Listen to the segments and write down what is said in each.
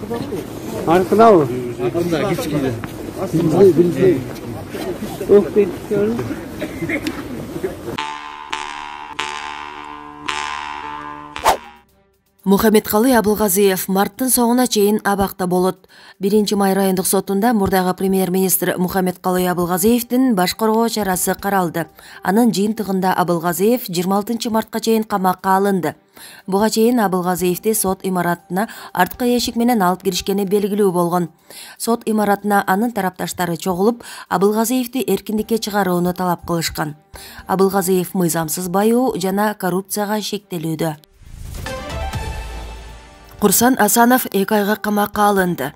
Аркынабы? Аркында кичкене. Мухаммедкалый Абылгазиев марттын соңуна чейин абакта болот. 1-май райондук сотунда мурдагы премьер-министр Мухаммедкалый Абылгазиевдин баш коргоо чарасы каралды. Анын жыйынтыгында Абылгазиев 26 мартка чейин камакка алынды. Буга чейин Абылгазиевди сот имаратына арткы эшик менен алып киришкени белгилүү болгон. Сот имаратына анын тарапташтары чогулуп, Абылгазиевди эркиндикке чыгарууну талап кылышкан. Абылгазиев мыйзамсыз баюу жана коррупцияга шектелүүдө. Курсан Асанов 2 айга камакка алынды.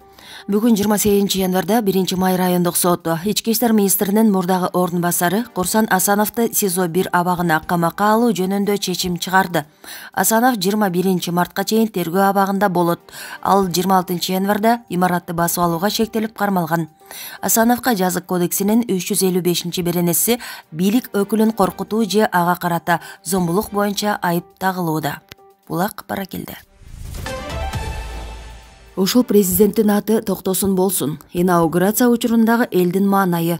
Бүгүн 28 январда 1-май райондук соту ички иштер министринин мурдагы ордун басары Курсан Асановду СИЗО 1 абагына камакка алуу жөнүндө чечим чыгарды. Асанов 21 мартка чейин тергөө абагында болот. Ал 26 январда имаратты басып алууга шектелип кармалган. Асановго жазык кодексинин 355-беренеси бийлик өкүлүн коркутуу же ага карата зомбулук боюнча айып тагылууда. Булак Баракелде. Ушул президенттин аты токтосун болсун. Инаугурация учурундагы элдин маанайы.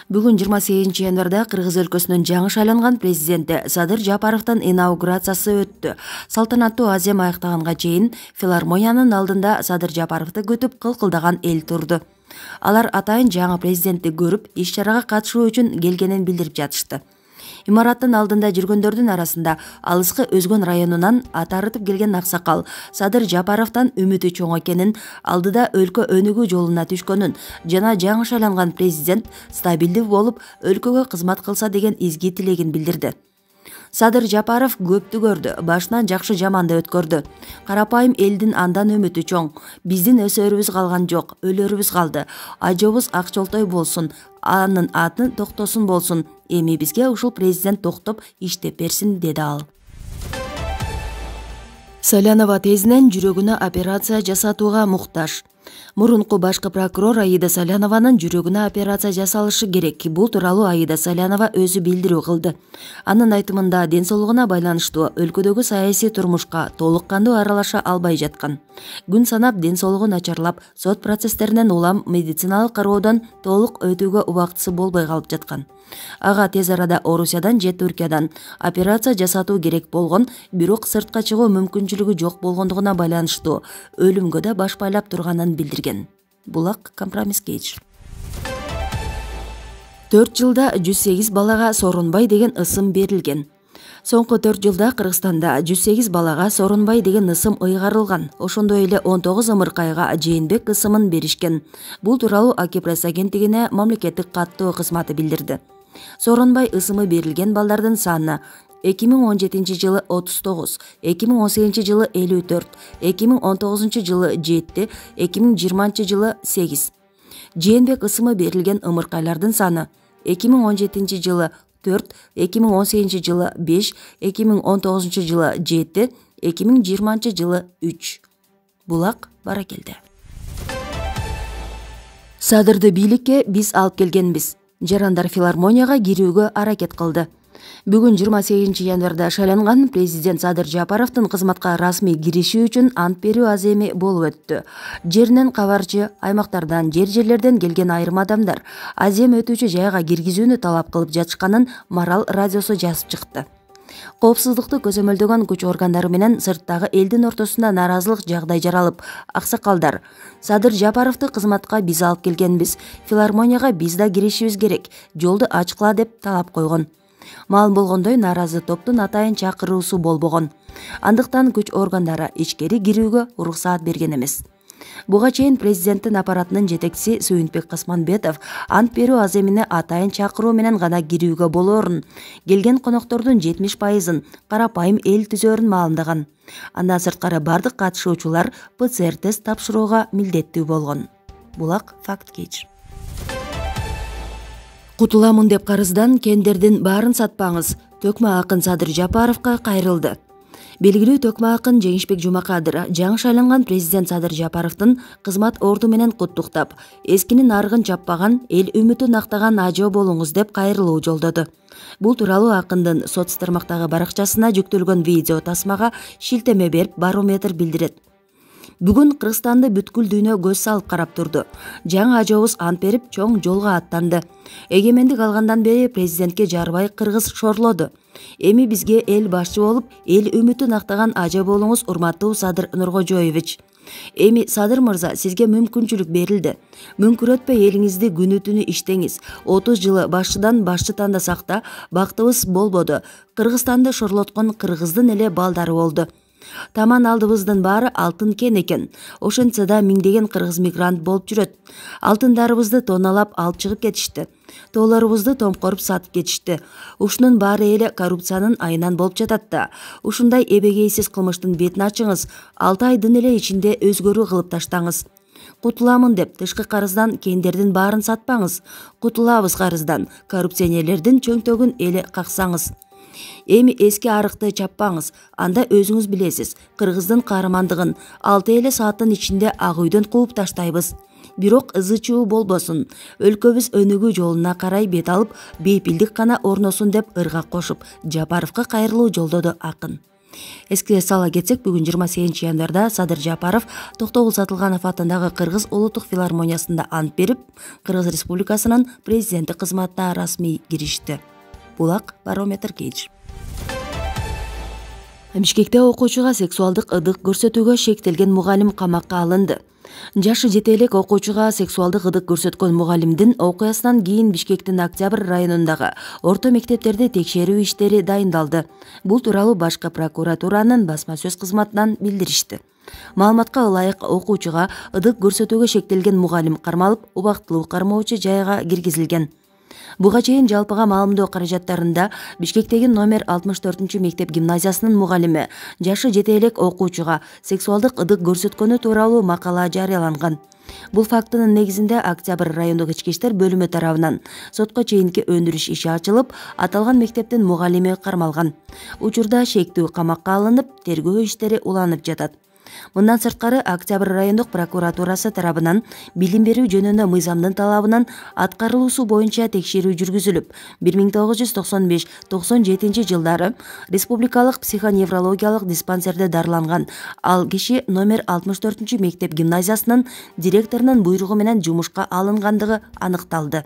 Бүгүн 28 январда Кыргыз өлкөсүнүн жаңы шайланган президенти Садыр Жапаровдун инаугурациясы өттү. Салтанаттуу азем аяктаганга чейин филармониянын алдында Садыр Жапаровду күтүп кылкылдаган эл турду. Алар атайын жаңы президентти көрүп, иш-чарага катышуу үчүн келгенин билдирип жатышты. Имараттын алдында жүргөндөрдүн арасында алыскы Өзгөн районунан ат арытып келген аксакал Садыр Жапаровдон үмүтү чоң экенин, алдыда өлкө өнүгүү жолуна түшкөнүн жана жаңы шайланган президент стабилдүү болуп, өлкөгө кызмат кылса деген изги тилегин билдирди. Садыр Жапаров көптү көрдү, башынан жакшы жаманды өткөрдү. Карапайым элдин андан үмүтү чоң. Биздин өсөрүбүз калган жок, өлөрүбүз калды. Ажобуз Акчолтой болсун, анын аты токтосун болсун. Эми бизге ушул президент токтоп иштеп берсин, деди ал. Салянова тезинен жүрөгүнө операция жасатууга муктаж. Мурунку башкы прокурор Аида Салянованын жүрөгүнө операция жасалышы керек. Бул тууралуу Аида Салянова өзү билдирүү кылды. Анын айтымында ден соолугуна байланыштуу өлкөдөгү саясий турмушка толук кандуу аралаша албай жаткан. Күн санап ден соолугу начарлап, сот процесстеринен улам медициналык кароодон толук өтүүгө убактысы болбой калып жаткан. Ага тез арада Орусиядан же Түркиядан операция жасатуу керек болгон, бирок сыртка чыгуу мүмкүнчүлүгү жок болгондугуна байланыштуу өлүмгө да баш байлап турганын билдирген. Булак компромисс кейж. 4 жылда 108 балага Сооронбай деген ысым берилген. Соңку 4 жылда Кыргызстанда 108 балага Сооронбай деген ысым ыйгарылган. Ошондой эле 19 ымыркайга Жээнбек ысымын беришкен. Бул тууралуу Акипресс агенттигине мамлекеттик каттоо кызматы билдирди. Сооронбай ысымы берилген балдардын саны 2017 жылы 39, 2018 жылы 54, 2019 жылы 7, 2020 жылы 8. Жээнбек ысымы берилген ымыркайлардын саны 2017 жылы 4, 2018 жылы 5, 2019 жылы 7, 2020 жылы 3. Булак Баракелде. Садырды бийликке биз алып келгенбиз. Жарандар филармонияга кирүүгө аракет кылды. Бүгүн 28 январда шайланган президент Садыр Жапаровдун кызматка расмий кириши үчүн ант берүү аземи болуп өттү. Жеринен кабарчы, аймактардан, жерлерден келген айрым адамдар азем өтүүчү жайга киргизүүнү талап кылып жатышканын Марал радиосу жазып чыкты. Коопсуздукту көзөмөлдөгөн күч органдары менен сырттагы элдин ортосунда нааразылык жагдай жаралып, аксакалдар Садыр Жапаровду кызматка биз алып келгенбиз, филармонияга биз да киришибиз керек, жолду ачкыла деп талап койгон. Маалым болгондой, нааразы топтун атайын чакыруусу болбогон. Андыктан күч органдары ичкери кирүүгө уруксаат берген эмес. Буга чейин президенттин аппаратынын жетекчиси Сүйүнбек Касманбетов ант берүү аземине атайын чакыруу менен гана кирүүгө болоорун, келген коноктордун 70%-ын карапайым эл түзөөрүн маалымдаган. Андан сырткары бардык катышуучулар ПЦР тест тапшырууга милдеттүү болгон. Булак факт кейж. Кутуламын деп карыздан кендердин баарын сатпаңыз. Төкмө акын Садыр Жапаровго кайрылды. Белгилүү төкмө акын Жеңишбек Жумакадыр жаңы шайланган президент Садыр Жапаровдун кызмат орду менен куттуктап, эскинин арыгын чаппаган, эл үмүтүн актаган ажоо болуңуз деп кайрылуу жолдоду. Бул тууралуу акындын соц тармактагы баракчасына жүктөлгөн видео тасмага шилтеме берип Барометр билдирет. Бүгүн Кыргызстанды бүткүл дүйнө көз салып карап турду. Жаңы ажообуз ант берип, чоң жолго аттанды. Эгемендик алгандан бери президентке жарбай кыргыз шорлоду. Эми бизге эл башчы болуп, эл үмүтүн актаган ажа болуңуз, урматтуу Садыр Нуркожоевич. Эми Садыр мырза, сизге мүмкүнчүлүк берилди. Мүңкүрөтпөй элиңизди күнү түнү иштеңиз. 30 жылы башчыдан башчы тандасак да, бактыбыз болбоду. Кыргызстанды шорлоткон кыргыздын эле балдары болду. Таман алдыбыздын баары алтын кен экен. Ошентсе да миңдеген кыргыз мигрант болуп жүрөт. Алтындарыбызды тоналап алып чыгып кетишти. Тоолорубузду томкоруп сатып кетишти. Ушунун баары эле коррупциянын айынан болуп жатат да. Ушундай эбегейсиз кылмыштын бетин ачыңыз. 6 айдын эле ичинде өзгөрүү кылып таштаңыз. Кутуламын деп тышкы карыздан кендердин баарын сатпаңыз. Кутулабыз карыздан, коррупционерлердин чөңтөгүн эле каксаңыз. Эми эски арыкты чаппаңыз. Анда өзүңүз билесиз, кыргыздын каармандыгын 6 эле сааттын ичинде ак үйдөн кууп таштайбыз. Бирок ызы-чуу болбосун. Өлкөбүз өнүгүү жолуна карай бет алып, бейпилдик гана орносун деп ыргак кошуп, Жапаровго кайрылуу жолдоду акын. Эске сала кетсек, бүгүн 28 январда Садыр Жапаров Токтогул Сатылганов атындагы Кыргыз улуттук филармониясында ант берип, Кыргыз Республикасынын президенти кызматына расмий киришти. Булак Барометр Кейдж. Бишкекте окуучуга сексуалдык ыдык көрсөтүүгө шектелген мугалим камакка алынды. Жашы жете элек окуучуга сексуалдык ыдык көрсөткөн мугалимдин окуясынан кийин Бишкектин Октябрь районундагы орто мектептерде текшерүү иштери дайындалды. Бул тууралуу башкы прокуратуранын басма сөз кызматынан билдиришти. Маалыматка ылайык, окуучуга ыдык көрсөтүүгө шектелген мугалим кармалып, убактылуу кармоочу жайга киргизилген. Буга чейин жалпыга маалымдоо каражаттарында Бишкектеги номер 64 мектеп гимназиясынын мугалими жашы жете элек окуучуга сексуалдык ыдык көрсөткөнү тууралуу макала жарыяланган. Бул фактынын негизинде Октябрь райондук ички иштер бөлүмү тарабынан сотко чейинки өндүрүш иши ачылып, аталган мектептин мугалими кармалган. Учурда шектүү камакка алынып, тергөө иштери уланып жатат. Мындан сырткары Октябрь райондук прокуратурасы тарабынан билим берүү жөнүндө мыйзамдын талабынан аткарылуусу боюнча текшерүү жүргүзүлүп, 1995-97 жылдары республикалык психоневрологиялык диспансерде дарыланган ал киши номер 64 мектеп гимназиясынын директорунун буйругу менен жумушка алынгандыгы аныкталды.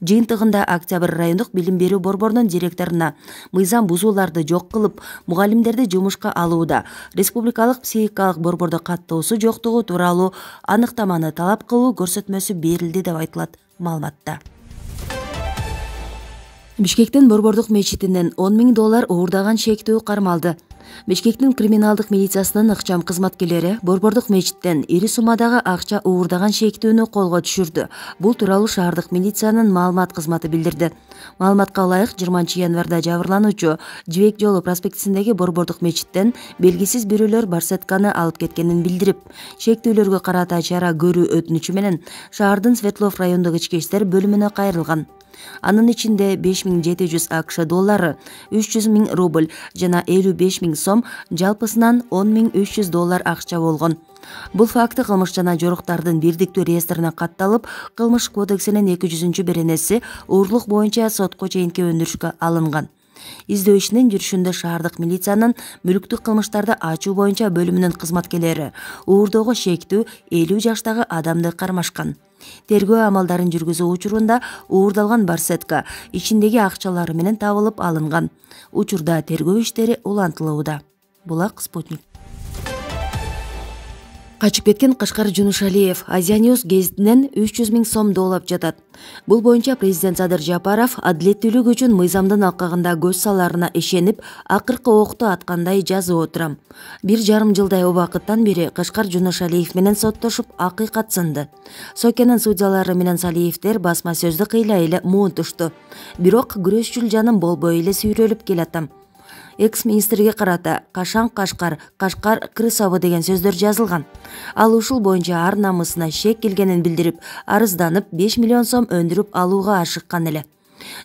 Жыйынтыгында Октябрь райондук билим берүү борборунун директоруна мыйзам бузууларды жок кылып, мугалимдерди жумушка алууда республикалык психикалык борбордо каттоосу жоктугу тууралуу аныктаманы талап кылуу көрсөтмөсү берилди деп айтылат маалыматта. Бишкектин борбордук мечитинен $10.000 уурдаган шектүү кармалды. Бишкектин криминалдык милициясынын ыкчам кызматкерлери борбордук мечиттен ири суммадагы акча уурдаган шектүүнү колго түшүрдү. Бул тууралуу шаардык милициянын маалымат кызматы билдирди. Маалыматка ылайык, 20 январда жабырлануучу Жибек жолу проспектисиндеги борбордук мечиттен белгисиз бирөөлөр барсетканы алып кеткенин билдирип, шектүүлөргө карата чара көрүү өтүнүчү менен шаардын Светлов райондук ички иштер бөлүмүнө кайрылган. Анын ичинде $5.700 АКШ доллары, $300.000 рубль жана $55.000 сом, жалпысынан $10.300 акча болгон. Бул факты кылмыш жана жоруктардын бирдиктүү реестрине катталып, Кылмыш кодексинин 200-беренеси уурлук боюнча сотко чейинки өндүрүшкө алынган. Издөө ишинин жүрүшүндө шаардык милициянын мүлүктүк кылмыштарды ачуу боюнча бөлүмүнүн кызматкерлери уурдоого шектүү 50 жаштагы адамды кармашкан. Тергөө амалдарын жүргүзүү учурунда уурдалган барсетка ичиндеги акчалары менен табылып алынган. Учурда тергөө иштери улантылууда. Булак Спутник. Качып кеткен Кашкар Жунушалиев Азия-Ньюс гезитинен 300.000 сом доолап жатат. Бул боюнча президент Садыр Жапаров адилеттүүлүк үчүн мыйзамдын алкагында көз саларына ишенип, акыркы окту аткандай жазып отурам. 1,5 жылдай убакыттан бери Кашкар Жунушалиев менен соттошуп, акыйкат сынды. Сокенин судьялары менен Салиевдер басма сөздү кыйла эле муунтушту. Бирок күрөшчүл жаным болбой эле сүйрөлүп келатам. Экс-министрге карата Кашан Кашкар, Кашкар крысабы деген сөздөр жазылган. Ал ушул боюнча ар намысына шек келгенин билдирип, арызданып 5 миллион сом өндүрүп алууга ашыккан эле.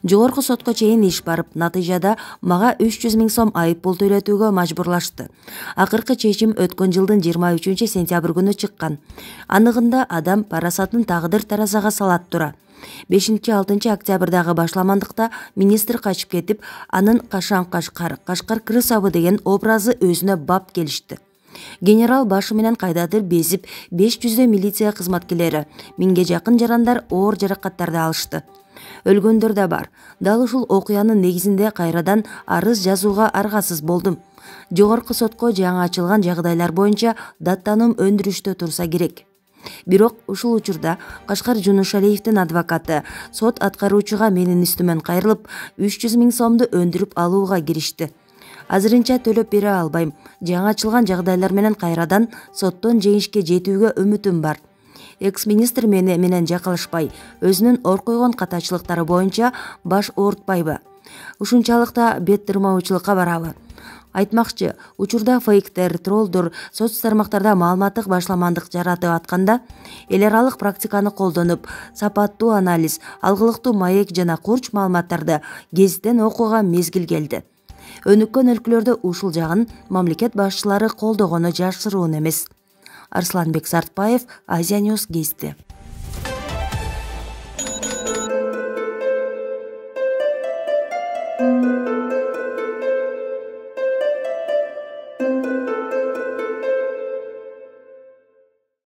Жогорку сотко чейин иш барып, натыйжада мага 300.000 сом айып пул төлөтүүгө мажбурлашты. Акыркы чечим өткөн жылдын 23 сентябрь күнү чыккан. Аныгында адам парасатын тагдыр таразага салат тура. 5-6 октябрдагы башламандыкта министр качып кетип, анын Кашан Кашкар, Кашкар крысабы деген образы өзүнө бап келишти. Генерал башы менен кайдадыр безип, 500 милиция кызматкерлери, 1000ге жакын жарандар оор жаракаттарды алышты. Өлгөндөр да бар. Дал ушул окуянын негизинде кайрадан арыз жазууга аргасыз болдум. Жогорку сотко жаңы ачылган жагдайлар боюнча даттануу өндүрүштө турса керек. Бирок ушул учурда Кашкар Жунушалиевдин адвокаты сот аткаруучуга менин үстүмөн кайрылып, 300 000 сомду өндүрүп алууга киришти. Азырынча төлөп бере албайм. Жаңы ачылган жагдайлар менен кайрадан соттон жеңишке жетүүгө үмүтүм бар. Экс-министр менен жакалышпай, өзүнүн ор койгон катачылыктары боюнча баш оорутпайбы? Ушунчалык да бет тырмаучулукка барабы? Айтмакчы, учурда фейктер, троллдор соц тармактарда маалыматтык башламандык жаратып атканда, эл аралык практиканы колдонуп, сапаттуу анализ, алгылыктуу маек жана курч маалыматтарды кезден окууга мезгил келди. Өнүккөн өлкөлөрдө ушул жагын мамлекет башчылары колдогону жашыруун эмес. Арсланбек Сартбаев, Азия News Гезити.